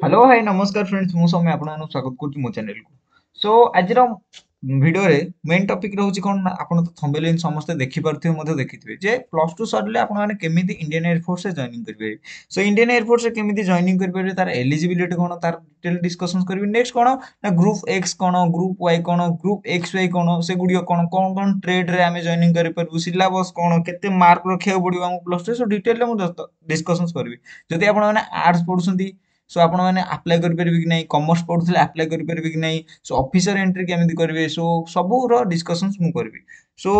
Hello high ନମସ୍କାର friends, ମୁଁ ସୌମ୍ୟ ଆପଣମାନଙ୍କୁ ସ୍ୱାଗତ କରୁଛି ମୋ ଚ୍ୟାନେଲକୁ। ସୋ ଆଜିର ଭିଡ଼ିଓରେ ମେନ୍ ଟପିକ୍ ରହୁଛି କ'ଣ ନା, ଆପଣ ତ ଥମ୍ବନେଲ୍ ସମସ୍ତେ ଦେଖିପାରୁଥିବେ, ମଧ୍ୟ ଦେଖିଥିବେ ଯେ +2 ସରିଲେ ଆପଣମାନେ କେମିତି ଇଣ୍ଡିଆନ୍ ଏୟାରଫୋର୍ସରେ ଜଏନିଂ କରିପାରିବେ। ସୋ ଇଣ୍ଡିଆନ୍ ଏୟାରଫୋର୍ସରେ କେମିତି ଜଏନିଂ କରିପାରିବେ, ତାର ଏଲିଜିବିଲିଟି କ'ଣ, ତାର ଡିଟେଲ୍ ଡିସ୍କସନ୍ସ କରିବି। ନେକ୍ସଟ କ'ଣ ନା ଗ୍ରୁପ୍ ଏକ୍ସ କ'ଣ, ଗ୍ରୁପ୍ ୱାଇ କ'ଣ, ଗ୍ରୁପ୍ ଏକ୍ସ ୱାଇ କ'ଣ, ସେଗୁଡ଼ିକ କ'ଣ କ'ଣ କ'ଣ ଟ୍ରେଡ୍ରେ ଆମେ ଜଏନିଂ କରିପାରିବୁ, ସିଲାବସ୍ କ'ଣ, କେତେ ମାର୍କ ରଖିବାକୁ ପଡ଼ିବ ଆମକୁ +2, ସୋ ଡିଟେଲରେ ମୁଁ ଡିସ୍କସନ୍ସ କରିବି। ଯଦି ଆପଣମାନେ ଆର୍ଟ୍ସ ପଢ଼ୁଛନ୍ତି, ସୋ ଆପଣମାନେ ଆପ୍ଲାଏ କରିପାରିବେ କି ନାହିଁ, କମର୍ସ ପଢ଼ୁଥିଲେ ଆପ୍ଲାଏ କରିପାରିବେ କି ନାହିଁ, ସୋ ଅଫିସର ଏଣ୍ଟ୍ରି କେମିତି କରିବେ, ସୋ ସବୁର ଡିସ୍କସନ୍ସ ମୁଁ କରିବି। ସୋ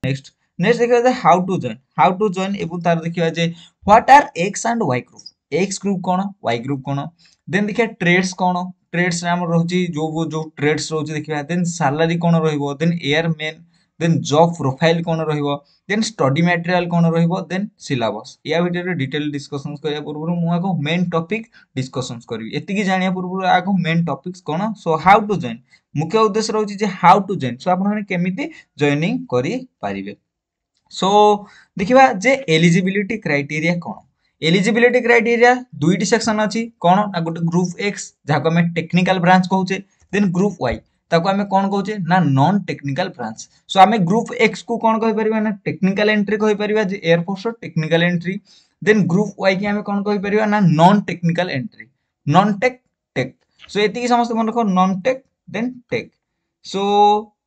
ନେକ୍ସଟ ଦେଖିବା ଯେ how to join, how to join ଏବଂ ତାର ଦେଖିବା ଯେ what are X and Y group, X group କ'ଣ, ୱାଇ ଗ୍ରୁପ୍ କ'ଣ। ଦେନ୍ ଦେଖିବା ଟ୍ରେଡ୍ସ କ'ଣ, ଟ୍ରେଡ୍ସରେ ଆମର ରହୁଛି ଯେଉଁ ଯେଉଁ ଟ୍ରେଡ୍ସ ରହୁଛି ଦେଖିବା। ଦେନ୍ ସାଲାରୀ କ'ଣ ରହିବ, ଦେନ୍ ଏୟାରମେନ୍, ଦେନ୍ ଜବ୍ ପ୍ରୋଫାଇଲ୍ କ'ଣ ରହିବ, ଦେନ୍ ଷ୍ଟଡି ମ୍ୟାଟେରିଆଲ୍ କ'ଣ ରହିବ, ଦେନ୍ ସିଲାବସ୍। ୟା ଭିତରେ ଡିଟେଲ୍ ଡିସ୍କସନ୍ସ କରିବା ପୂର୍ବରୁ ମୁଁ ଆଗ ମେନ୍ ଟପିକ୍ ଡିସ୍କସନ୍ସ କରିବି। ଏତିକି ଜାଣିବା ପୂର୍ବରୁ ଆଗ ମେନ୍ ଟପିକ୍ସ କ'ଣ, ସୋ how to join. ମୁଖ୍ୟ ଉଦ୍ଦେଶ୍ୟ ରହୁଛି ଯେ how to join, show ଆପଣମାନେ କେମିତି ଜଏନିଂ କରିପାରିବେ। ସୋ ଦେଖିବା ଯେ ଏଲିଜିବିଲିଟି କ୍ରାଇଟେରିଆ କ'ଣ। ଏଲିଜିବିଲିଟି କ୍ରାଇଟେରିଆ ଦୁଇଟି ସେକ୍ସନ୍ ଅଛି, କ'ଣ ନା ଗୋଟେ ଗ୍ରୁପ୍ ଏକ୍ସ ଯାହାକୁ ଆମେ ଟେକ୍ନିକାଲ ବ୍ରାଞ୍ଚ କହୁଛେ, ଦେନ୍ ଗ୍ରୁପ୍ ୱାଇ ତାକୁ ଆମେ କ'ଣ କହୁଛେ ନା ନନ୍ ଟେକ୍ନିକାଲ ବ୍ରାଞ୍ଚ। ସୋ ଆମେ ଗ୍ରୁପ୍ ଏକ୍ସ କୁ କ'ଣ କହିପାରିବା ନା ଟେକ୍ନିକାଲ ଏଣ୍ଟ୍ରି କହିପାରିବା, ଯେ ଏୟାରଫୋର୍ସର ଟେକ୍ନିକାଲ ଏଣ୍ଟ୍ରି। ଦେନ୍ ଗ୍ରୁପ୍ ୱାଇ କି ଆମେ କ'ଣ କହିପାରିବା ନା non technical entry, non tech tech. So ଏତିକି ସମସ୍ତେ ମନେ ରଖ, non tech then tech. So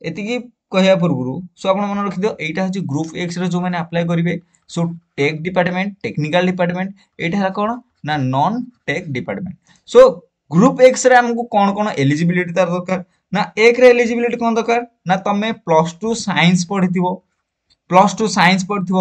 ଏତିକି କହିବା ପୂର୍ବରୁ ସୋ ଆପଣ ମନେ ରଖିଦିଅ ଏଇଟା ହେଉଛି ଗ୍ରୁପ୍ ଏକ୍ସରେ ଯେଉଁମାନେ ଆପ୍ଲାଏ କରିବେ, so tech department, technical department, ଏଇଟା ହେଲା କ'ଣ ନା non tech department. So group ଏକ୍ସରେ ଆମକୁ କ'ଣ କ'ଣ ଏଲିଜିବିଲିଟି ତାର ଦରକାର ନା, ଏକରେ ଏଲିଜିବିଲିଟି କ'ଣ ଦରକାର ନା ତମେ +2 ସାଇନ୍ସ ପଢ଼ିଥିବ, +2 ସାଇନ୍ସ ପଢ଼ିଥିବ,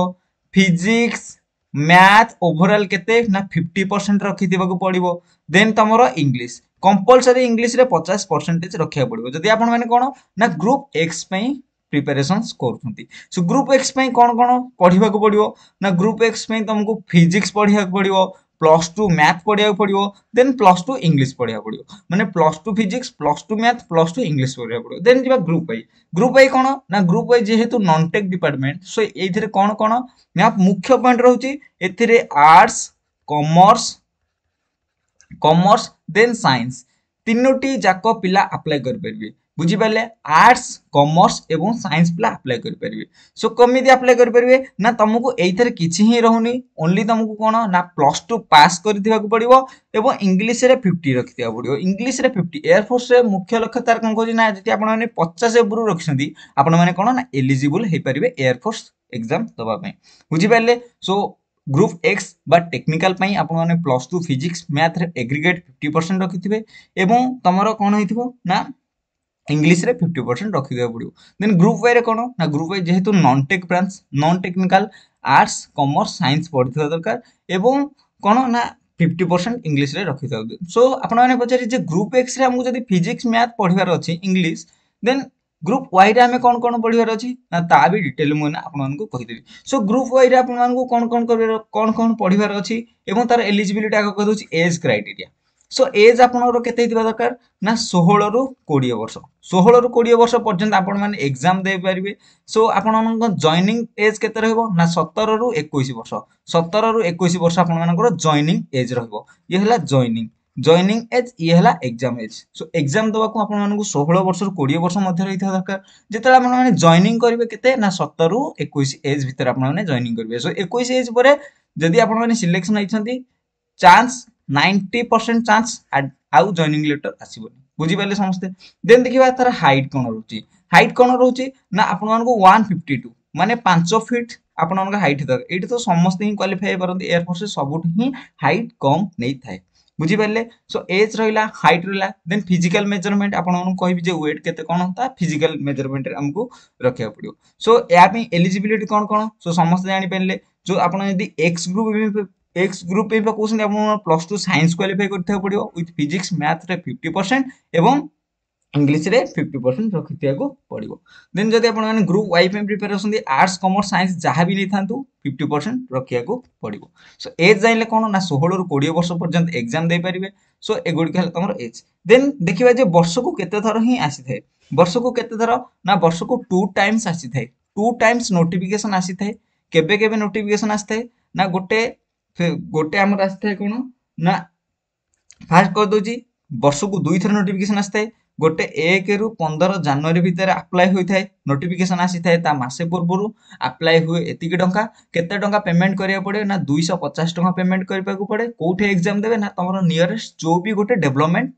ଫିଜିକ୍ସ ମ୍ୟାଥ୍ ଓଭରଅଲ୍ କେତେ ନା 50% ରଖିଥିବାକୁ ପଡ଼ିବ। ଦେନ୍ ତମର ଇଂଲିଶ କମ୍ପଲସରି ଇଂଲିଶରେ 50% ରଖିବାକୁ ପଡ଼ିବ ଯଦି ଆପଣମାନେ କ'ଣ ନା ଗ୍ରୁପ୍ ଏକ୍ସ ପାଇଁ ପ୍ରିପାରେସନ୍ସ କରୁଛନ୍ତି। ସୋ ଗ୍ରୁପ୍ ଏକ୍ସ ପାଇଁ କ'ଣ କ'ଣ ପଢ଼ିବାକୁ ପଡ଼ିବ ନା ଗ୍ରୁପ୍ ଏକ୍ସ ପାଇଁ ତମକୁ ଫିଜିକ୍ସ ପଢ଼ିବାକୁ ପଡ଼ିବ, +2 ମ୍ୟାଥ୍ ପଢ଼ିବାକୁ ପଡ଼ିବ, ଦେନ୍ +2 ଇଂଲିଶ ପଢ଼ିବାକୁ ପଡ଼ିବ, ମାନେ +2 ଫିଜିକ୍ସ, +2 ମ୍ୟାଥ୍, +2 ଇଂଲିଶ ପଢ଼ିବାକୁ ପଡ଼ିବ। ଦେନ୍ ଯିବା ଗ୍ରୁପ୍ ୱାଇ। ଗ୍ରୁପ୍ ୱାଇ କ'ଣ ନା ଗ୍ରୁପ୍ ୱାଇ ଯେହେତୁ ନନ୍ ଟେକ୍ ଡିପାର୍ଟମେଣ୍ଟ, ସୋ ଏଇଥିରେ କ'ଣ କ'ଣ ନା ମୁଖ୍ୟ ପଏଣ୍ଟ ରହୁଛି, ଏଥିରେ ଆର୍ଟ୍ସ, କମର୍ସ ଦେନ୍ ସାଇନ୍ସ ତିନୋଟି ଯାକ ପିଲା ଆପ୍ଲାଏ କରିପାରିବେ। ବୁଝିପାରିଲେ? ଆର୍ଟ୍ସ, କମର୍ସ ଏବଂ ସାଇନ୍ସ ପିଲା ଆପ୍ଲାଏ କରିପାରିବେ। ସୋ କେମିତି ଆପ୍ଲାଏ କରିପାରିବେ ନା ତମକୁ ଏଇଥିରେ କିଛି ହିଁ ରହୁନି, ଓନ୍ଲି ତମକୁ କ'ଣ ନା +2 ପାସ୍ କରିଥିବାକୁ ପଡ଼ିବ ଏବଂ ଇଂଲିଶରେ 50 ରଖିଥିବାକୁ ପଡ଼ିବ। ଇଂଲିଶରେ 50 ଏୟାରଫୋର୍ସରେ ମୁଖ୍ୟ ଲକ୍ଷ୍ୟ ତାର କ'ଣ କହୁଛି ନା ଯଦି ଆପଣମାନେ 50 ଉପରୁ ରଖିଛନ୍ତି ଆପଣମାନେ କ'ଣ ନା ଏଲିଜିବୁଲ୍ ହେଇପାରିବେ ଏୟାରଫୋର୍ସ ଏକ୍ଜାମ୍ ଦେବା ପାଇଁ। ବୁଝିପାରିଲେ? ସୋ ଗ୍ରୁପ୍ ଏକ୍ସ ବା ଟେକ୍ନିକାଲ ପାଇଁ ଆପଣମାନେ +2 ଫିଜିକ୍ସ ମ୍ୟାଥରେ ଏଗ୍ରିଗେଟ୍ 50% ରଖିଥିବେ ଏବଂ ତମର କ'ଣ ହେଇଥିବ ନା ଇଂଲିଶରେ 50% ରଖିଦେବାକୁ ପଡ଼ିବ। ଦେନ୍ ଗ୍ରୁପ୍ ୱାଇରେ କ'ଣ ନା ଗ୍ରୁପ୍ ୱାଇ ଯେହେତୁ non tech branch, non technical, arts, commerce, science ପଢ଼ିଥିବା ଦରକାର ଏବଂ କ'ଣ ନା 50% ଇଂଲିଶରେ ରଖିଥିବା ଦରକାର। ସୋ ଆପଣମାନେ ପଚାରିବେ ଯେ ଗ୍ରୁପ୍ ଏକ୍ସରେ ଆମକୁ ଯଦି ଫିଜିକ୍ସ ମ୍ୟାଥ୍ ପଢ଼ିବାର ଅଛି ଇଂଲିଶ, ଦେନ୍ ଗ୍ରୁପ୍ ୱାଇରେ ଆମେ କ'ଣ କ'ଣ ପଢ଼ିବାର ଅଛି ନା ତା ବି ଡିଟେଲ୍ ମୁଁ ଆପଣମାନଙ୍କୁ କହିଦେବି। ସୋ ଗ୍ରୁପ୍ ୱାଇରେ ଆପଣମାନଙ୍କୁ କ'ଣ କ'ଣ କରିବାର, କ'ଣ କ'ଣ ପଢ଼ିବାର ଅଛି ଏବଂ ତାର ଏଲିଜିବିଲିଟି ଆଗ କହିଦେଉଛି ଏଜ୍ କ୍ରାଇଟେରିଆ। ସୋ ଏଜ୍ ଆପଣଙ୍କର କେତେ ହେଇଥିବା ଦରକାର ନା 16ରୁ 20 ବର୍ଷ, 16ରୁ 20 ବର୍ଷ ପର୍ଯ୍ୟନ୍ତ ଆପଣମାନେ ଏକ୍ଜାମ୍ ଦେଇପାରିବେ। ସୋ ଆପଣମାନଙ୍କ ଜଏନିଂ ଏଜ୍ କେତେ ରହିବ ନା 17ରୁ 21 ବର୍ଷ, 17ରୁ 21 ବର୍ଷ ଆପଣମାନଙ୍କର ଜଏନିଂ ଏଜ୍ ରହିବ। ଇଏ ହେଲା ଜଏନିଂ ଏଜ୍, ଇଏ ହେଲା ଏକ୍ଜାମ୍ ଏଜ୍। ସୋ ଏକ୍ଜାମ୍ ଦେବାକୁ ଆପଣମାନଙ୍କୁ 16 ବର୍ଷରୁ 20 ବର୍ଷ ମଧ୍ୟରେ ହେଇଥିବା ଦରକାର। ଯେତେବେଳେ ଆପଣମାନେ ଜଏନିଂ କରିବେ କେତେ ନା 17ରୁ 21 ଏଜ୍ ଭିତରେ ଆପଣମାନେ ଜଏନିଂ କରିବେ। ସୋ 21 ଏଜ୍ ପରେ ଯଦି ଆପଣମାନେ ସିଲେକ୍ସନ୍ ହେଇଛନ୍ତି, ଚାନ୍ସ 90% ଚାନ୍ସ ଆଉ ଜଏନିଂ ଲେଟର ଆସିବନି। ବୁଝିପାରିଲେ ସମସ୍ତେ? ଦେନ୍ ଦେଖିବା ତାର ହାଇଟ୍ କ'ଣ ରହୁଛି। ହାଇଟ୍ କ'ଣ ରହୁଛି ନା ଆପଣମାନଙ୍କୁ 152 ମାନେ 5 ଫିଟ୍ ଆପଣଙ୍କ ହାଇଟ୍ ଦରକାର। ଏଇଠି ତ ସମସ୍ତେ ହିଁ କ୍ୱାଲିଫାଏ ହେଇପାରନ୍ତି, ଏୟାରଫୋର୍ସରେ ସବୁଠୁ ହିଁ ହାଇଟ୍ କମ୍ ନେଇଥାଏ। ବୁଝିପାରିଲେ? ସୋ ଏଜ୍ ରହିଲା, ହାଇଟ୍ ରହିଲା, ଦେନ୍ ଫିଜିକାଲ ମେଜରମେଣ୍ଟ ଆପଣମାନଙ୍କୁ କହିବି ଯେ ୱେଟ୍ କେତେ କ'ଣ, ତା ଫିଜିକାଲ ମେଜରମେଣ୍ଟରେ ଆମକୁ ରଖିବାକୁ ପଡ଼ିବ। ସୋ ଏହା ପାଇଁ ଏଲିଜିବିଲିଟି କ'ଣ କ'ଣ ସୋ ସମସ୍ତେ ଜାଣିପାରିଲେ। ଯେଉଁ ଆପଣ ଯଦି ଏକ୍ସ ଗ୍ରୁପ୍ ପାଇଁ ପକାଉଛନ୍ତି, ଆପଣ +2 ସାଇନ୍ସ କ୍ୱାଲିଫାଏ କରିଥିବାକୁ ପଡ଼ିବ ୱିଥ୍ ଫିଜିକ୍ସ ମ୍ୟାଥରେ 50% ଏବଂ ଇଂଲିଶରେ 50% ରଖିଥିବାକୁ ପଡ଼ିବ। ଦେନ୍ ଯଦି ଆପଣମାନେ ଗ୍ରୁପ୍ ୱାଇ ପାଇଁ ପ୍ରିପେୟାର ହେଉଛନ୍ତି, ଆର୍ଟ୍ସ, କମର୍ସ, ସାଇନ୍ସ ଯାହା ବି ନେଇଥାନ୍ତୁ 50% ରଖିବାକୁ ପଡ଼ିବ। ସୋ ଏଜ୍ ଜାଣିଲେ କ'ଣ ନା 16ରୁ 20 ବର୍ଷ ପର୍ଯ୍ୟନ୍ତ ଏକ୍ଜାମ୍ ଦେଇପାରିବେ। ସୋ ଏଗୁଡ଼ିକ ହେଲା ତମର ଏଜ୍। ଦେନ୍ ଦେଖିବା ଯେ ବର୍ଷକୁ କେତେ ଥର ହିଁ ଆସିଥାଏ। ବର୍ଷକୁ କେତେ ଥର ନା ବର୍ଷକୁ 2 ଟାଇମ୍ସ ଆସିଥାଏ, 2 ଟାଇମ୍ସ ନୋଟିଫିକେସନ୍ ଆସିଥାଏ। କେବେ କେବେ ନୋଟିଫିକେସନ୍ ଆସିଥାଏ ନା ଗୋଟେ ଆମର ଆସିଥାଏ କ'ଣ ନା ଫାଷ୍ଟ କରିଦେଉଛି, ବର୍ଷକୁ 2 ଥର ନୋଟିଫିକେସନ୍ ଆସିଥାଏ। ଗୋଟେ 1ରୁ 15 ଜାନୁଆରୀ ଭିତରେ ଆପ୍ଲାଏ ହୋଇଥାଏ, ନୋଟିଫିକେସନ୍ ଆସିଥାଏ ତା ମାସେ ପୂର୍ବରୁ, ଆପ୍ଲାଏ ହୁଏ। ଏତିକି ଟଙ୍କା, କେତେ ଟଙ୍କା ପେମେଣ୍ଟ କରିବାକୁ ପଡ଼େ ନା 250 ଟଙ୍କା ପେମେଣ୍ଟ କରିବାକୁ ପଡ଼େ। କେଉଁଠି ଏକ୍ଜାମ୍ ଦେବେ ନା ତମର ନିୟରେଷ୍ଟ ଯେଉଁ ବି ଗୋଟେ ଡେଭଲପମେଣ୍ଟ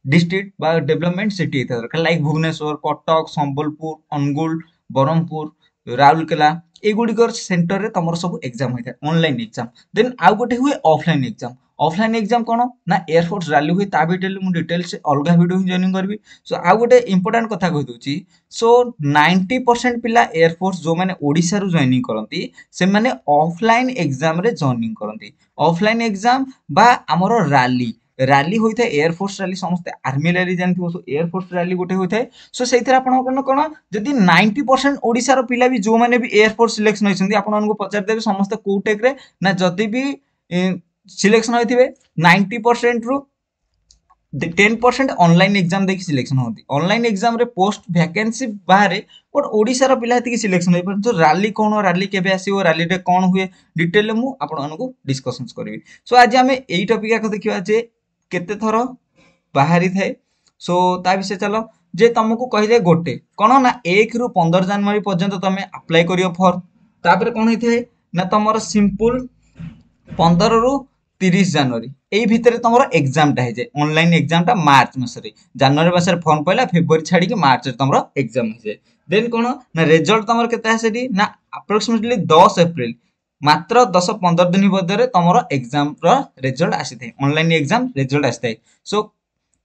ଡିଷ୍ଟ୍ରିକ୍ଟ ବା ଡେଭଲପମେଣ୍ଟ ସିଟି ହେଇଥିବା ଦରକାର, ଲାଇକ୍ ଭୁବନେଶ୍ୱର, କଟକ, ସମ୍ବଲପୁର, ଅନୁଗୁଳ, ବ୍ରହ୍ମପୁର, ରାଉରକେଲା, ଏଇଗୁଡ଼ିକର ସେଣ୍ଟରରେ ତମର ସବୁ ଏକ୍ଜାମ୍ ହୋଇଥାଏ, ଅନଲାଇନ୍ ଏକ୍ଜାମ୍। ଦେନ୍ ଆଉ ଗୋଟେ ହୁଏ ଅଫଲାଇନ୍ ଏକ୍ଜାମ୍। ଅଫଲାଇନ୍ ଏକ୍ଜାମ୍ କ'ଣ ନା ଏୟାରଫୋର୍ସ ରାଲି ହୁଏ। ତା ଭିତରେ ମୁଁ ଡିଟେଲ୍ସ ଅଲଗା ଭିଡ଼ିଓ ହିଁ ଜଏନିଂ କରିବି। ସୋ ଆଉ ଗୋଟେ ଇମ୍ପୋର୍ଟାଣ୍ଟ କଥା କହିଦେଉଛି। ସୋ 90% ପିଲା ଏୟାରଫୋର୍ସ ଯେଉଁମାନେ ଓଡ଼ିଶାରୁ ଜଏନିଂ କରନ୍ତି, ସେମାନେ ଅଫଲାଇନ୍ ଏକ୍ଜାମ୍ରେ ଜଏନିଂ କରନ୍ତି। ଅଫଲାଇନ୍ ଏକ୍ଜାମ୍ ବା ଆମର ରାଲି, ରାଲି ହୋଇଥାଏ, ଏୟାରଫୋର୍ସ ରାଲି। ସମସ୍ତେ ଆର୍ମି ରାଲି ଜାଣିଥିବ। ସୋ ଏୟାରଫୋର୍ସ ରାଲି ଗୋଟେ ହୋଇଥାଏ। ସୋ ସେଇଥିରେ ଆପଣଙ୍କର କ'ଣ, ଯଦି 90% ଓଡ଼ିଶାର ପିଲା ବି ଯେଉଁମାନେ ବି ଏୟାରଫୋର୍ସ ସିଲେକ୍ସନ୍ ହୋଇଛନ୍ତି, ଆପଣମାନଙ୍କୁ ପଚାରିଦେବେ ସମସ୍ତେ କୋଉ ଟେକ୍ରେ ନା ଯଦି ବି ସିଲେକ୍ସନ୍ ହୋଇଥିବେ, 90%ରୁ 10% ଅନଲାଇନ୍ ଏକ୍ଜାମ୍ ଦେଇକି ସିଲେକ୍ସନ୍ ହୁଅନ୍ତି। ଅନଲାଇନ୍ ଏକ୍ଜାମ୍ରେ ପୋଷ୍ଟ ଭ୍ୟାକେନ୍ସି ବାହାରେ, ବଟ୍ ଓଡ଼ିଶାର ପିଲା ହେତିକି ସିଲେକ୍ସନ୍ ହେଇପାରନ୍ତି। ତ ରାଲି କ'ଣ, ରାଲି କେବେ ଆସିବ, ରାଲିରେ କ'ଣ ହୁଏ, ଡିଟେଲରେ ମୁଁ ଆପଣମାନଙ୍କୁ ଡିସ୍କସନ୍ସ କରିବି। ସୋ ଆଜି ଆମେ ଏଇ ଟପିକ୍ ଆଗ ଦେଖିବା ଯେ କେତେ ଥର ବାହାରିଥାଏ। ସୋ ତା ବିଷୟରେ ଚାଲ ଯେ ତମକୁ କହିଲେ ଗୋଟେ କ'ଣ ନା 1ରୁ 15 ଜାନୁଆରୀ ପର୍ଯ୍ୟନ୍ତ ତମେ ଆପ୍ଲାଏ କରିବ ଫର୍ମ। ତାପରେ କ'ଣ ହେଇଥାଏ ନା ତମର ସିମ୍ପଲ 15ରୁ 30 ଜାନୁଆରୀ ଏଇ ଭିତରେ ତମର ଏକ୍ଜାମଟା ହେଇଯାଏ, ଅନଲାଇନ୍ ଏକ୍ଜାମଟା ମାର୍ଚ୍ଚ ମାସରେ। ଜାନୁଆରୀ ମାସରେ ଫର୍ମ ପଡ଼ିଲା, ଫେବୃଆରୀ ଛାଡ଼ିକି ମାର୍ଚ୍ଚରେ ତମର ଏକ୍ଜାମ ହେଇଯାଏ। ଦେନ୍ କ'ଣ ନା ରେଜଲ୍ଟ ତମର କେତେ ଆସେ ଏଠି ନା ଆପ୍ରୋକ୍ସିମେଟଲି 10 ଏପ୍ରିଲ, ମାତ୍ର 10-15 ଦିନ ମଧ୍ୟରେ ତମର ଏକ୍ଜାମର ରେଜଲ୍ଟ ଆସିଥାଏ, ଅନଲାଇନ୍ ଏକ୍ଜାମ ରେଜଲ୍ଟ ଆସିଥାଏ। ସୋ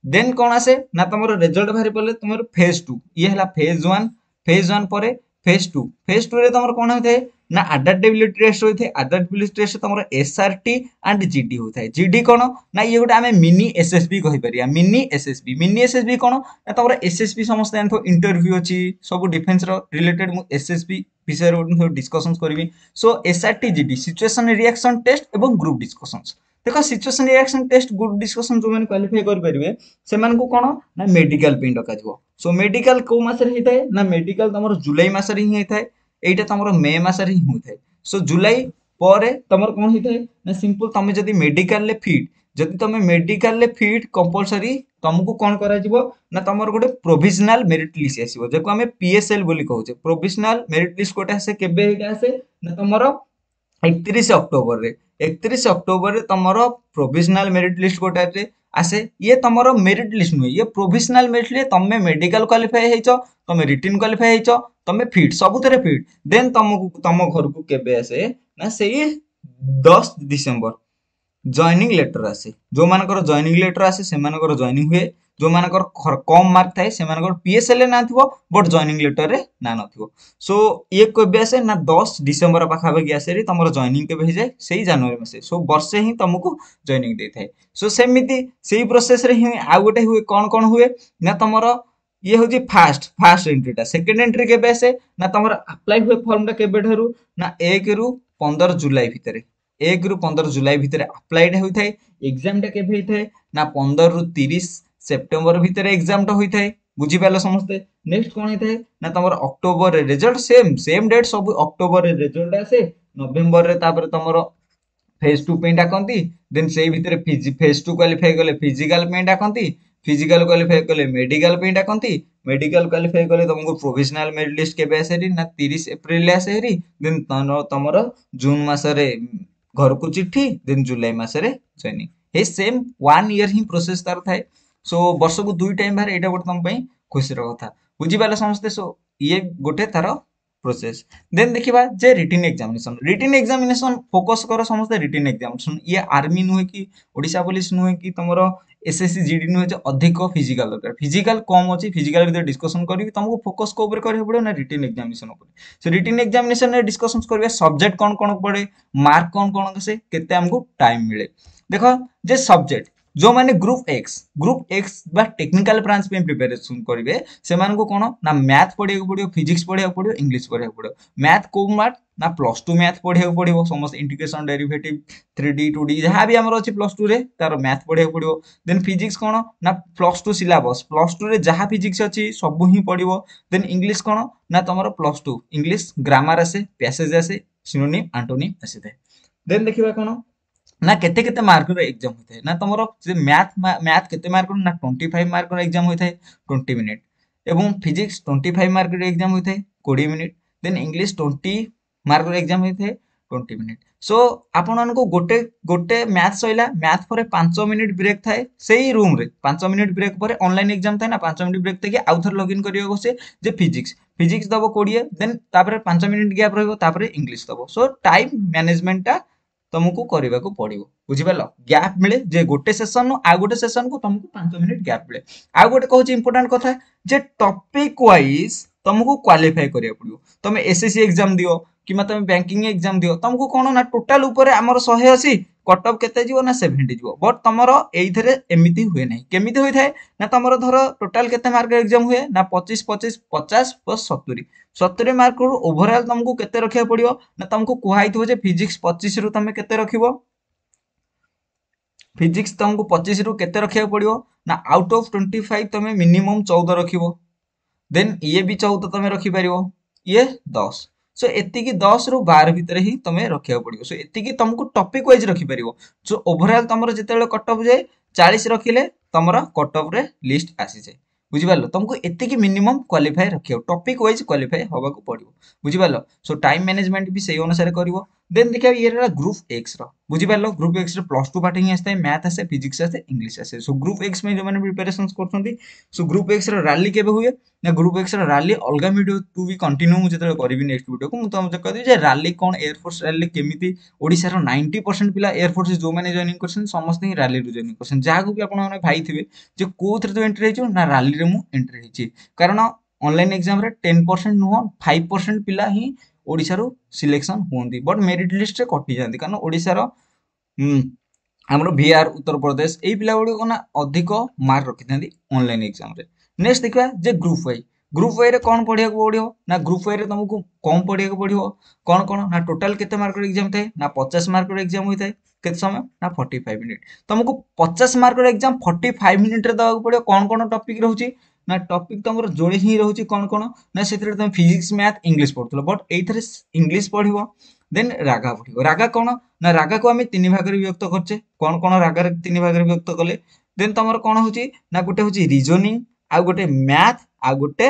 ଦେନ୍ କ'ଣ ଆସେ ନା ତମର ରେଜଲ୍ଟ ବାହାରି ପଡ଼ିଲେ ତମର ଫେଜ୍ ଟୁ। ଇଏ ହେଲା ଫେଜ୍ ୱାନ୍। ଫେଜ୍ ୱାନ୍ ପରେ ଫେଜ୍ ଟୁ। ଫେଜ୍ ଟୁରେ ତମର କ'ଣ ହୋଇଥାଏ ନା ଆଡାପ୍ଟେବିଲିଟି ଟେଷ୍ଟ ହୋଇଥାଏ। ଆଡାପ୍ଟେବିଲିଟି ଟେଷ୍ଟ ତମର ଏସ୍ଆରଟି ଆଣ୍ଡ ଜିଡି ହୋଇଥାଏ। ଜିଡି କ'ଣ ନା ଇଏ ଗୋଟେ ଆମେ ମିନି ଏସ୍ଏସ୍ବି କହିପାରିବା। ମିନି ଏସ୍ଏସ୍ବି, ମିନି ଏସ୍ଏସ୍ବି କ'ଣ ନା ତମର ଏସ୍ଏସ୍ବି ସମସ୍ତେ ଜାଣିଥିବ, ଇଣ୍ଟରଭ୍ୟୁ ଅଛି ସବୁ ଡିଫେନ୍ସର ରିଲେଟେଡ୍। ମୁଁ ଏସ୍ଏସ୍ବି ବିଷୟରେ ଗୋଟେ ଡିସ୍କସନ୍ସ କରିବି। Show SRT GD, situation reaction test ଏବଂ ଗ୍ରୁପ୍ ଡିସ୍କସନ୍ସ। ଦେଖ, situation reaction test, group discussion ଯେଉଁମାନେ କ୍ୱାଲିଫାଇ କରିପାରିବେ, ସେମାନଙ୍କୁ କ'ଣ ନା ମେଡିକାଲ ପାଇଁ ଡକାଯିବ। ସୋ ମେଡିକାଲ କେଉଁ ମାସରେ ହେଇଥାଏ ନା ମେଡିକାଲ ତମର ଜୁଲାଇ ମାସରେ ହିଁ ହେଇଥାଏ। ଏଇଟା ତମର ମେ ମାସରେ ହିଁ ହୋଇଥାଏ। ସୋ ଜୁଲାଇ ପରେ ତମର କ'ଣ ହେଇଥାଏ ନା ସିମ୍ପଲ ତମେ ଯଦି ମେଡିକାଲରେ ଫିଟ୍, ଯଦି ତମେ ମେଡିକାଲରେ ଫିଟ୍, କମ୍ପଲସରି ତମକୁ କ'ଣ କରାଯିବ ନା ତମର ଗୋଟେ ପ୍ରୋଭିଜନାଲ ମେରିଟ୍ ଲିଷ୍ଟ ଆସିବ, ଯାକୁ ଆମେ ପିଏସ୍ଏଲ୍ ବୋଲି କହୁଛେ। ପ୍ରୋଭିଜନାଲ ମେରିଟ୍ ଲିଷ୍ଟ ଗୋଟେ ଆସେ। କେବେ ଏଇଟା ଆସେ ନା ତମର 31 ଅକ୍ଟୋବରରେ। 31 ଅକ୍ଟୋବରରେ ତମର ପ୍ରୋଭିଜନାଲ ମେରିଟ୍ ଲିଷ୍ଟ ଗୋଟେ ଆସେ। ଇଏ ତମର ମେରିଟ୍ ଲିଷ୍ଟ ନୁହେଁ, ଇଏ ପ୍ରୋଭିଜନାଲ ମେରିଟ୍ ଲିଷ୍ଟ। ତମେ ମେଡିକାଲ କ୍ୱାଲିଫାଏ ହେଇଛ, ତମେ ରିଟିନ୍ କ୍ୱାଲିଫାଏ ହେଇଛ, ତମେ ଫିଟ୍, ସବୁଥିରେ ଫିଟ୍, ଦେନ୍ ତମକୁ ତମ ଘରକୁ କେବେ ଆସେ ନା ସେଇ 10 ଡିସେମ୍ବର ଜଏନିଂ ଲେଟର ଆସେ। ଯେଉଁମାନଙ୍କର ଜଏନିଂ ଲେଟର ଆସେ, ସେମାନଙ୍କର ଜଏନିଂ ହୁଏ। ଯେଉଁମାନଙ୍କର କମ୍ ମାର୍କ ଥାଏ, ସେମାନଙ୍କର ପିଏସ୍ଏଲ୍ ରେ ନାଁ ଥିବ, ବଟ୍ ଜଏନିଂ ଲେଟରରେ ନାଁ ନଥିବ। ସୋ ଇଏ କେବେ ଆସେ ନା 10 ଡିସେମ୍ବର ପାଖାପାଖି ଆସେ। ତମର ଜଏନିଂ କେବେ ହେଇଯାଏ? ସେଇ ଜାନୁଆରୀ ମାସେ। ସୋ ବର୍ଷେ ହିଁ ତମକୁ ଜଏନିଂ ଦେଇଥାଏ। ସୋ ସେମିତି ସେଇ ପ୍ରୋସେସରେ ହିଁ ଆଉ ଗୋଟେ ହୁଏ। କ'ଣ କ'ଣ ହୁଏ ନା ତମର ଇଏ ହେଉଛି ଫାଷ୍ଟ ଏଣ୍ଟ୍ରିଟା। ସେକେଣ୍ଡ ଏଣ୍ଟ୍ରି କେବେ ଆସେ ନା ତମର ଆପ୍ଲାଏ ହୁଏ ଫର୍ମଟା କେବେଠାରୁ ନା 1ରୁ 15 ଜୁଲାଇ ଭିତରେ। 1ରୁ 15 ଜୁଲାଇ ଭିତରେ ଆପ୍ଲାଇଟା ହୋଇଥାଏ। ଏକ୍ଜାମଟା କେବେ ହେଇଥାଏ ନା 15ରୁ 30 ସେପ୍ଟେମ୍ବର ଭିତରେ ଏକ୍ଜାମଟା ହୋଇଥାଏ। ବୁଝିପାରିଲ ସମସ୍ତେ? ନେକ୍ସଟ କ'ଣ ହେଇଥାଏ ନା ତମର ଅକ୍ଟୋବରରେ ରେଜଲ୍ଟ, ସେମ୍ ସେମ୍ ଡେଟ୍ ସବୁ। ଅକ୍ଟୋବରରେ ରେଜଲ୍ଟ ଆସେ, ନଭେମ୍ବରରେ ତାପରେ ତମର ଫେଜ୍ ଟୁ ପାଇଁ ଡାକନ୍ତି। ଦେନ୍ ସେଇ ଭିତରେ ଫେଜ୍ ଟୁ କ୍ୱାଲିଫାଇ କଲେ ଫିଜିକାଲ ପାଇଁ ଡାକନ୍ତି, ଫିଜିକାଲ କ୍ୱାଲିଫାଇ କଲେ ମେଡିକାଲ ପାଇଁ ଡାକନ୍ତି, ମେଡିକାଲ କ୍ୱାଲିଫାଇ କଲେ ତମକୁ ପ୍ରୋଭିଜନାଲ ମେରିଟ୍ ଲିଷ୍ଟ କେବେ ଆସେ ନା 30 ଏପ୍ରିଲରେ ଆସେ ହେରି। ଦେନ୍ ତମର ଜୁନ୍ ମାସରେ ଘରକୁ ଚିଠି, ଦେନ୍ ଜୁଲାଇ ମାସରେ ଜଏନିଂ। ଏଇ ସେମ୍ ୱାନ୍ ଇୟର ହିଁ ପ୍ରୋସେସ ତାର ଥାଏ। ସୋ ବର୍ଷକୁ ଦୁଇ ଟାଇମ୍ ବାହାରେ, ଏଇଟା ଗୋଟେ ତମ ପାଇଁ ଖୁସିର କଥା। ବୁଝିପାରିଲେ ସମସ୍ତେ? ସୋ ଇଏ ଗୋଟେ ତାର ପ୍ରୋସେସ। ଦେନ୍ ଦେଖିବା ଯେ written examination. Written examination focus କର ସମସ୍ତେ। ରିଟିନ୍ ଏକ୍ଜାମିନେସନ, ଇଏ ଆର୍ମି ନୁହେଁ କି ଓଡ଼ିଶା ପୋଲିସ ନୁହେଁ କି ତମର ଏସ୍ଏସ୍ସି ଜିଡି ନୁହେଁ ଯେ ଅଧିକ ଫିଜିକାଲ ଦରକାର। ଫିଜିକାଲ କମ୍ ଅଛି, ଫିଜିକାଲ ଭିତରେ ଡିସ୍କସନ କରିବି। ତମକୁ ଫୋକସ୍ କୋଉ ଉପରେ କରିବାକୁ ପଡ଼ିବ ନା ରିଟିନ୍ ଏକ୍ଜାମିନେସନ ଉପରେ। ସୋ ରିଟିନ୍ ଏକ୍ଜାମିନେସନରେ ଡିସ୍କସନ କରିବା, ସବଜେକ୍ଟ କ'ଣ କ'ଣ ପଡ଼େ, ମାର୍କ କ'ଣ କ'ଣ ଆସେ, କେତେ ଆମକୁ ଟାଇମ୍ ମିଳେ। ଦେଖ ଯେ ସବଜେକ୍ଟ, ଯେଉଁମାନେ ଗ୍ରୁପ୍ ଏକ୍ସ ବା ଟେକ୍ନିକାଲ ବ୍ରାଞ୍ଚ ପାଇଁ ପ୍ରିପାରେସନ୍ କରିବେ, ସେମାନଙ୍କୁ କ'ଣ ନା ମ୍ୟାଥ୍ ପଢ଼ିବାକୁ ପଡ଼ିବ, ଫିଜିକ୍ସ ପଢ଼ିବାକୁ ପଡ଼ିବ, ଇଂଲିଶ ପଢ଼ିବାକୁ ପଡ଼ିବ। ମ୍ୟାଥ୍ କେଉଁ ମ୍ୟାଥ୍ ନା ପ୍ଲସ୍ ଟୁ ମ୍ୟାଥ୍ ପଢ଼ିବାକୁ ପଡ଼ିବ ସମସ୍ତେ। ଇଣ୍ଟିଗ୍ରେସନ୍, ଡେରିଭେଟିଭ୍, 3D, 2D ଯାହା ବି ଆମର ଅଛି ପ୍ଲସ୍ ଟୁରେ, ତାର ମ୍ୟାଥ୍ ପଢ଼ିବାକୁ ପଡ଼ିବ। ଦେନ୍ ଫିଜିକ୍ସ କ'ଣ ନା ପ୍ଲସ୍ ଟୁ ସିଲାବସ୍, ପ୍ଲସ୍ ଟୁରେ ଯାହା ଫିଜିକ୍ସ ଅଛି ସବୁ ହିଁ ପଡ଼ିବ। ଦେନ୍ ଇଂଲିଶ କ'ଣ ନା ତମର ପ୍ଲସ୍ ଟୁ ଇଂଲିଶ ଗ୍ରାମାର ଆସେ, ପ୍ୟାସେଜ ଆସେ, ସିନୋନିମ୍, ଆଣ୍ଟୋନିମ୍ ଆସିଥାଏ। ଦେନ୍ ଦେଖିବା କ'ଣ ନା କେତେ କେତେ ମାର୍କର ଏକ୍ଜାମ ହୋଇଥାଏ ନା ତମର ସେ ମ୍ୟାଥ କେତେ ମାର୍କର ନା 25 ମାର୍କର ଏକ୍ଜାମ ହୋଇଥାଏ 20 ମିନିଟ୍, ଏବଂ ଫିଜିକ୍ସ 25 ମାର୍କର ଏକ୍ଜାମ ହୋଇଥାଏ 20 ମିନିଟ୍, ଦେନ୍ ଇଂଲିଶ 20 ମାର୍କର ଏକ୍ଜାମ ହୋଇଥାଏ 20 ମିନିଟ୍। ସୋ ଆପଣମାନଙ୍କୁ ଗୋଟେ ଗୋଟେ ମ୍ୟାଥ ସରିଲା, ମ୍ୟାଥ ପରେ 5 ମିନିଟ୍ ବ୍ରେକ୍ ଥାଏ ସେଇ ରୁମ୍ରେ, 5 ମିନିଟ୍ ବ୍ରେକ୍ ପରେ ଅନଲାଇନ୍ ଏକ୍ଜାମ ଥାଏ ନା, 5 ମିନିଟ୍ ବ୍ରେକ୍ ଥାଇକି ଆଉ ଥରେ ଲଗ୍ଇନ୍ କରିବାକୁ ସେ ଯେ ଫିଜିକ୍ସ ଦବ 20, ଦେନ୍ ତାପରେ 5 ମିନିଟ୍ ଗ୍ୟାପ୍ ରହିବ, ତାପରେ ଇଂଲିଶ ଦବ। ସୋ ଟାଇମ୍ ମ୍ୟାନେଜମେଣ୍ଟଟା ତମକୁ କରିବାକୁ ପଡିବ, ବୁଝିପାରିଲ? ଗ୍ୟାପ୍ ମିଳେ ଯେ ଗୋଟେ ସେସନରୁ ଆଉ ଗୋଟେ ସେସନକୁ ତମକୁ 5 ମିନିଟ୍ ଗ୍ୟାପ୍ ମିଳେ। ଆଉ ଗୋଟେ କହୁଛି ଇମ୍ପୋର୍ଟାଣ୍ଟ କଥା ଯେ ଟପିକ ୱାଇଜ ତମକୁ କ୍ୱାଲିଫାଏ କରିବାକୁ ପଡିବ। ତମେ ଏସଏସସି ଏକ୍ଜାମ ଦିଅ କିମ୍ବା ତମେ ବ୍ୟାଙ୍କିଂ ଏକ୍ଜାମ ଦିଅ, ତମକୁ କଣ ନା ଟୋଟାଲ ଉପରେ ଆମର 180 କଟ୍ ଅଫ୍ କେତେ ଯିବ ନା 70 ଯିବ। ବଟ୍ ତମର ଏଇଥିରେ ଏମିତି ହୁଏ ନାହିଁ। କେମିତି ହୋଇଥାଏ ନା ତମର ଧର ଟୋଟାଲ କେତେ ମାର୍କ ଏକ୍ଜାମ ହୁଏ ନା 25 25 50 ପ୍ଲସ୍ 70, 70 ମାର୍କରୁ ଓଭରଅଲ୍ ତମକୁ କେତେ ରଖିବାକୁ ପଡିବ ନା ତମକୁ କୁହାହେଇଥିବ ଯେ ଫିଜିକ୍ସ 25ରୁ ତମେ କେତେ ରଖିବ, ଫିଜିକ୍ସ ତମକୁ 25ରୁ କେତେ ରଖିବାକୁ ପଡିବ ନା ଆଉଟ୍ ଅଫ୍ 25 ତମେ ମିନିମମ୍ 14 ରଖିବ, ଦେନ୍ ଇଏ ବି 14 ତମେ ରଖିପାରିବ, ଇଏ 10। ସୋ ଏତିକି 10ରୁ 12 ଭିତରେ ହିଁ ତମେ ରଖିବାକୁ ପଡିବ। ସୋ ଏତିକି ତମକୁ ଟପିକ ୱାଇଜ ରଖିପାରିବ। ସୋ ଓଭରଅଲ୍ ତମର ଯେତେବେଳେ କଟ୍ ଅଫ୍ ଯାଏ 40 ରଖିଲେ ତମର କଟ୍ ଅଫ୍ରେ ଲିଷ୍ଟ ଆସିଯାଏ, ବୁଝିପାରିଲ? ତମକୁ ଏତିକି ମିନିମମ୍ କ୍ୱାଲିଫାଏ ରଖିବାକୁ, ଟପିକ ୱାଇଜ କ୍ୱାଲିଫାଏ ହବାକୁ ପଡିବ, ବୁଝିପାରିଲ? ସୋ ଟାଇମ୍ ମ୍ୟାନେଜମେଣ୍ଟ ବି ସେଇ ଅନୁସାରେ କରିବ। ଦେନ୍ ଦେଖିବା ଇଏ ହେଲା ଗ୍ରୁପ୍ ଏକ୍ସ ର, ବୁଝିପାରିଲ? ଗ୍ରୁପ୍ ଏକ୍ସ ରେ +2 ପାଠ ହିଁ ଆସିଥାଏ, ମ୍ୟାଥ ଆସେ, ଫିଜିକ୍ସ ଆସେ, ଇଂଲିଶ ଆସେ। ସୋ ଗ୍ରୁପ୍ ଏକ୍ସ ପାଇଁ ଯେଉଁମାନେ ପ୍ରିପାରେସନ୍ସ କରୁଛନ୍ତି, ସୋ ଗ୍ରୁପ୍ ଏକ୍ସ ର ରାଲି କେବେ ହୁଏ ନା ଗ୍ରୁପ୍ ଏକ୍ସ ର ରାଲି ଅଲଗା ଭିଡ଼ିଓ ଟୁ ବି କଣ୍ଟିନ୍ୟୁ ମୁଁ ଯେତେବେଳେ କରିବି ନେକ୍ସଟ ଭିଡ଼ିଓକୁ ମୁଁ ତମକୁ କହିଦେବି ଯେ ରାଲି କ'ଣ, ଏୟାରଫୋର୍ସ ରାଲି କେମିତି ଓଡ଼ିଶାର 90% ପିଲା ଏୟାରଫୋର୍ସ ଯେଉଁମାନେ ଜଏନିଂ କରିଛନ୍ତି ସମସ୍ତେ ହିଁ ରାଲିରୁ ଜଏନିଂ କରିଛନ୍ତି। ଯାହାକୁ ବି ଆପଣମାନେ ଭାଇଥିବେ ଯେ କୋଉଥିରେ ତୁ ଏଣ୍ଟ୍ରି ହେଇଛୁ ନା ରାଲିରେ ମୁଁ ଏଣ୍ଟ୍ରି ହେଇଛି, କାରଣ ଅନଲାଇନ୍ ଏକ୍ଜାମରେ 10% ନୁହଁ 5% ପିଲା ହିଁ ଓଡ଼ିଶାରୁ ସିଲେକ୍ସନ୍ ହୁଅନ୍ତି, ବଟ୍ ମେରିଟ୍ ଲିଷ୍ଟରେ କଟିଯାଆନ୍ତି। କାରଣ ଓଡ଼ିଶାର ଆମର ବିହାର, ଉତ୍ତରପ୍ରଦେଶ ଏଇ ପିଲା ଗୁଡ଼ିକ ନା ଅଧିକ ମାର୍କ ରଖିଥାନ୍ତି ଅନଲାଇନ୍ ଏକ୍ଜାମରେ। ନେକ୍ସଟ ଦେଖିବା ଯେ ଗ୍ରୁପ୍ ୱାଇ, ଗ୍ରୁପ୍ ୱାଇରେ କ'ଣ ପଢ଼ିବାକୁ ପଡ଼ିବ ନା ଗ୍ରୁପ୍ ୱାଇରେ ତମକୁ କମ୍ ପଢ଼ିବାକୁ ପଡ଼ିବ। କ'ଣ କ'ଣ ନା ଟୋଟାଲ କେତେ ମାର୍କର ଏକ୍ଜାମ ଥାଏ ନା 50 ମାର୍କର ଏକ୍ଜାମ ହୋଇଥାଏ। କେତେ ସମୟ ନା 45 ମିନିଟ୍। ତମକୁ 50 ମାର୍କର ଏକ୍ଜାମ 45 ମିନିଟ୍ରେ ଦେବାକୁ ପଡ଼ିବ। କ'ଣ କ'ଣ ଟପିକ୍ ରହୁଛି ନା ଟପିକ୍ ତମର ଯୋଡ଼େ ହିଁ ରହୁଛି। କ'ଣ କ'ଣ ନା ସେଥିରେ ତମେ ଫିଜିକ୍ସ, ମ୍ୟାଥ, ଇଂଲିଶ ପଢ଼ୁଥିଲ, ବଟ୍ ଏଇଥିରେ ଇଂଲିଶ ପଢ଼ିବ, ଦେନ୍ ରାଗା ପଢ଼ିବ। ରାଗା କ'ଣ ନା ରାଗାକୁ ଆମେ 3 ଭାଗରେ ବିଭକ୍ତ କରୁଛେ। କ'ଣ କ'ଣ ରାଗାରେ 3 ଭାଗରେ ବିଭକ୍ତ କଲେ? ଦେନ୍ ତମର କ'ଣ ହଉଛି ନା ଗୋଟେ ହଉଛି ରିଜନିଂ, ଆଉ ଗୋଟେ ମ୍ୟାଥ, ଆଉ ଗୋଟେ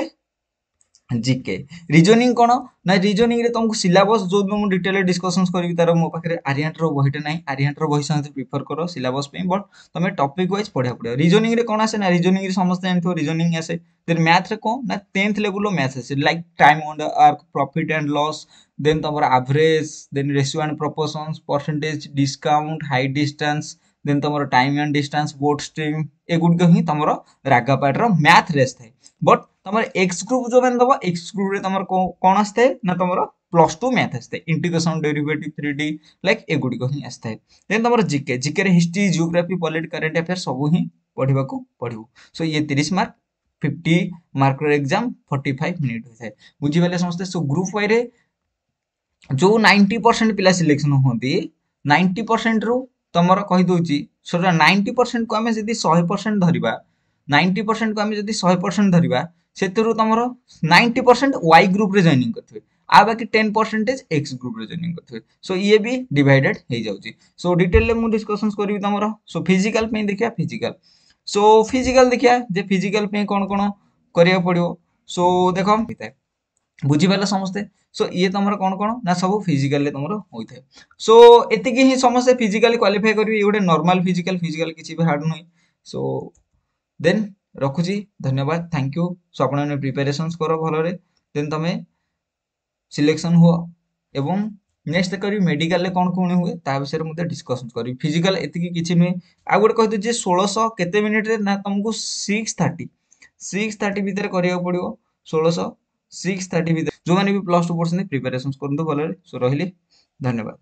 ଜିକେ। ରିଜନିଂ କ'ଣ ନା ରିଜନିଂରେ ତମକୁ ସିଲାବସ୍ ଯୋଉ ମୁଁ ଡିଟେଲରେ ଡିସ୍କସନ୍ସ କରିବି ତାର ମୋ ପାଖରେ ଆରିହାଣ୍ଟର ବହିଟା ନାହିଁ, ଆରିହାଣ୍ଟର ବହି ସମସ୍ତେ ପ୍ରିଫର କର ସିଲାବସ୍ ପାଇଁ, ବଟ୍ ତମେ ଟପିକ୍ ୱାଇଜ୍ ପଢ଼ିବାକୁ ପଡ଼ିବ। ରିଜନିଂରେ କ'ଣ ଆସେ ନା ରିଜନିଂରେ ସମସ୍ତେ ଜାଣିଥିବ ରିଜନିଂ ଆସେ। ଦେନ୍ ମ୍ୟାଥରେ କ'ଣ ନା 10th ଲେବୁଲର ମ୍ୟାଥ ଆସେ, like time and work, profit and loss, then ତମର average, then ratio and proportions, percentage, discount, height distance, then ତମର time and distance, boat stream, ଏଗୁଡ଼ିକ ହିଁ ତମର ରାଗା ପାର୍ଟର ମ୍ୟାଥରେ ଆସିଥାଏ। ବଟ୍ ତମର ଏକ୍ସ ଗ୍ରୁପ୍ ଯେଉଁମାନେ ଦେବ, ଏକ୍ସ ଗ୍ରୁପ୍ରେ ତମର କ'ଣ ଆସିଥାଏ ନା ତମର +2 ମ୍ୟାଥ ଆସିଥାଏ, ଇଣ୍ଟିଗ୍ରେସନ, ଡେରିଭେଟିଭ୍, 3D like ଏଗୁଡ଼ିକ ହିଁ ଆସିଥାଏ। ଦେନ୍ ତମର GK, ଜିକେରେ history, geography, polity, current affair ସବୁ ହିଁ ପଢ଼ିବାକୁ ପଡ଼ିବ। ସୋ ଇଏ 30 ମାର୍କ, 50 ମାର୍କର ଏକ୍ଜାମ 45 ମିନିଟ୍ ହୋଇଥାଏ, ବୁଝିପାରିଲେ ସମସ୍ତେ? ସୋ ଗ୍ରୁପ୍ ୱାଇରେ ଯେଉଁ 90% ପିଲା ସିଲେକ୍ସନ ହୁଅନ୍ତି, 90%ରୁ ତମର କହିଦେଉଛି ସେଟା 90%କୁ ଆମେ ଯଦି 100% ଧରିବା, 90%କୁ ଆମେ ଯଦି 100% ଧରିବା, ସେଥିରୁ ତମର 90% ୱାଇ ଗ୍ରୁପ୍ରେ ଜଏନିଂ କରିଥିବେ, ଆଉ ବାକି 10% ଏକ୍ସ ଗ୍ରୁପ୍ରେ ଜଏନିଂ କରିଥିବେ। ସୋ ଇଏ ବି ଡିଭାଇଡେଡ୍ ହେଇଯାଉଛି। ସୋ ଡିଟେଲରେ ମୁଁ ଡିସ୍କସନ୍ସ କରିବି ତମର। ସୋ ଫିଜିକାଲ ପାଇଁ ଦେଖିବା, ଫିଜିକାଲ। ସୋ ଫିଜିକାଲ ଦେଖିବା ଯେ ଫିଜିକାଲ ପାଇଁ କ'ଣ କ'ଣ କରିବାକୁ ପଡ଼ିବ। ସୋ ଦେଖ ହେଇଥାଏ, ବୁଝିପାରିଲ ସମସ୍ତେ? ସୋ ଇଏ ତମର କ'ଣ କ'ଣ ନା ସବୁ ଫିଜିକାଲରେ ତମର ହୋଇଥାଏ। ସୋ ଏତିକି ହିଁ ସମସ୍ତେ ଫିଜିକାଲି କ୍ୱାଲିଫାଏ କରିବେ। ଇଏ ଗୋଟେ ନର୍ମାଲ ଫିଜିକାଲ, ଫିଜିକାଲ କିଛି ବି ହାର୍ଡ ନୁହେଁ। ସୋ ଦେନ୍ ରଖୁଛି, ଧନ୍ୟବାଦ, thank you. Show ଆପଣମାନେ ପ୍ରିପାରେସନ୍ସ କର ଭଲରେ, ଦେନ୍ ତମେ ସିଲେକ୍ସନ୍ ହୁଅ। ଏବଂ ନେକ୍ସଟ କରିବି ମେଡିକାଲରେ କ'ଣ କ'ଣ ହୁଏ ତା ବିଷୟରେ ମଧ୍ୟ ଡିସ୍କସନ୍ କରିବି। ଫିଜିକାଲ ଏତିକି କିଛି ନୁହେଁ। ଆଉ ଗୋଟେ କହିଦେଉଛି ଯେ 1600 କେତେ ମିନିଟ୍ରେ ନା ତମକୁ 6:30 ଭିତରେ କରିବାକୁ ପଡ଼ିବ। 1600 6:30 ଭିତରେ ଯେଉଁମାନେ ବି +2 ପଢ଼ୁଛନ୍ତି ପ୍ରିପାରେସନ୍ସ କରନ୍ତୁ ଭଲରେ। ସୋ ରହିଲି, ଧନ୍ୟବାଦ।